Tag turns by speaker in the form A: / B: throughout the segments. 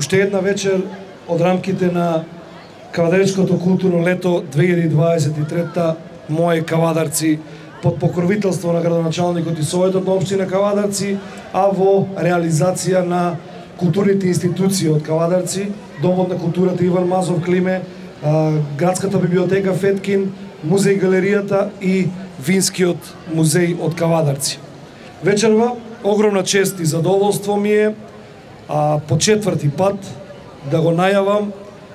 A: уште една вечер од рамките на Кавадаречкото културно лето 2023 Мои Кавадарци под покровителство на градоначалникот и Советот на општина Кавадарци, а во реализација на културните институции од Кавадарци, Домот на културата Иван Мазов Климе, Градската библиотека Феткин, Музеј галеријата и Винскиот музеј од Кавадарци. Вечерва огромна чест и задоволство ми е по 4-ти пат да го најавам,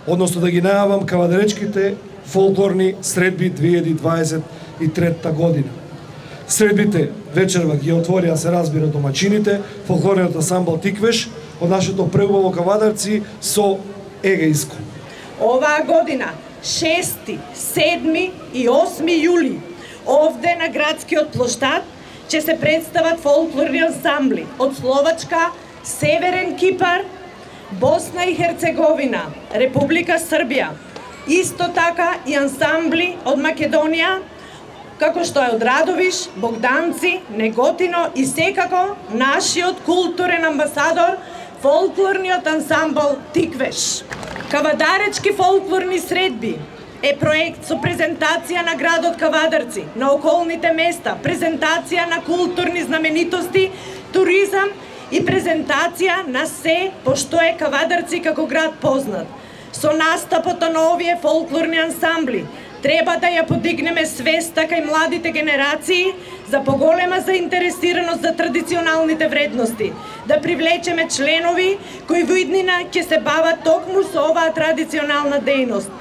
A: односно да ги најавам Кавадаречките фолклорни средби 2023 година. Средбите вечерва ги отворија, се разбира, домачините, фолклорниот ансамбл Тиквеш од нашето преубаво Кавадарци со Егејско.
B: Оваа година 6, 7 и 8 јули овде на градскиот плоштад ќе се представат фолклорни ансамбли од Словачка, Северен Кипар, Босна и Херцеговина, Република Србија, исто така и ансамбли од Македонија, како што е од Радовиш, Богданци, Неготино и секако нашиот културен амбасадор, фолклорниот ансамбл Тиквеш. Кавадаречки фолклорни средби е проект со презентација на градот Кавадарци, на околните места, презентација на културни знаменитости, туризам и презентација на се пошто е Кавадарци како град познат. Со настапот на овие фолклорни ансамбли треба да ја подигнеме свеста кај младите генерации за поголема заинтересираност за традиционалните вредности, да привлечеме членови кои во иднина ќе се бават токму со оваа традиционална дејност.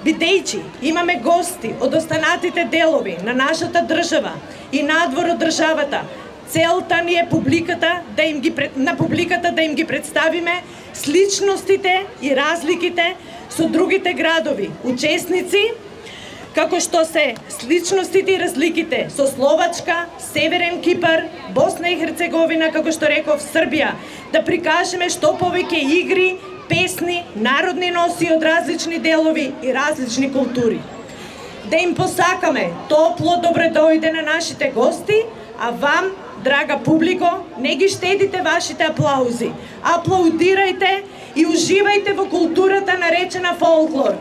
B: Бидејќи имаме гости од останатите делови на нашата држава и надвор од државата, целта ни е на публиката да им ги представиме сличностите и разликите со другите градови, учесници, како што се сличностите и разликите со Словачка, Северен Кипар, Босна и Херцеговина, како што реков, Србија, да прикажеме што повеќе игри, песни, народни носи од различни делови и различни култури. Да им посакаме топло добре дојде на нашите гости, а вам, драга публико, не ги штедите вашите аплаузи. Аплаудирајте и уживајте во културата наречена фолклор.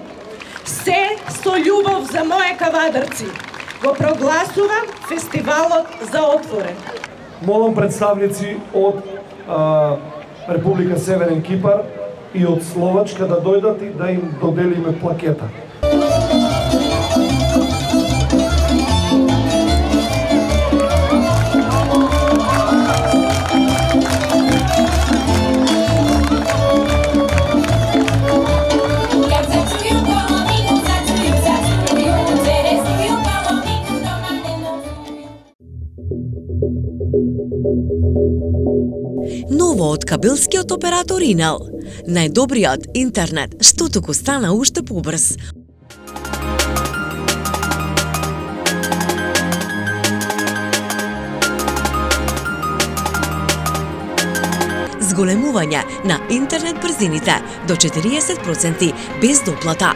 B: Се со љубов за Мои Кавадарци. Го прогласувам фестивалот за отворен.
A: Молам представници од Република Северен Кипар и од Словачка да дојдат и да им доделиме плакета.
C: Ново од кабелскиот оператор Инел. Најдобриот интернет, што туку стана уште побрз. Зголемување на интернет брзините до 40% без доплата.